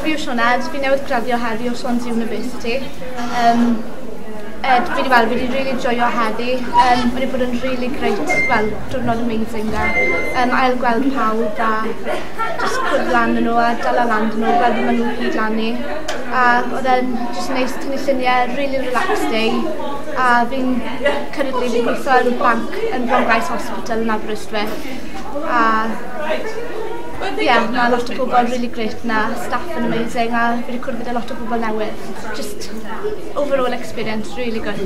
Fi yw Sioned, fi newydd graddio heddi o Swansea University. Ed, fi wedi weld, fi wedi really joio heddi. Wedi bod yn really great, wel, diwrnod amazing da. Ail gweld pawb a just cwrdd lan yn nhw a dala lan yn nhw, gweld beth maen nhw'n gyd lan i. A oedd e'n just neis tynnu lluniau, really relaxed day. A fi'n currently fi'n gweithio yn banc yn Bronglais Hospital yn Aberystwyth. A ie, yeah, mae lot o bobl really great na, staff yn amazing a fi wedi cwrdd gyda lot o bobl newydd. Just overall experience really good.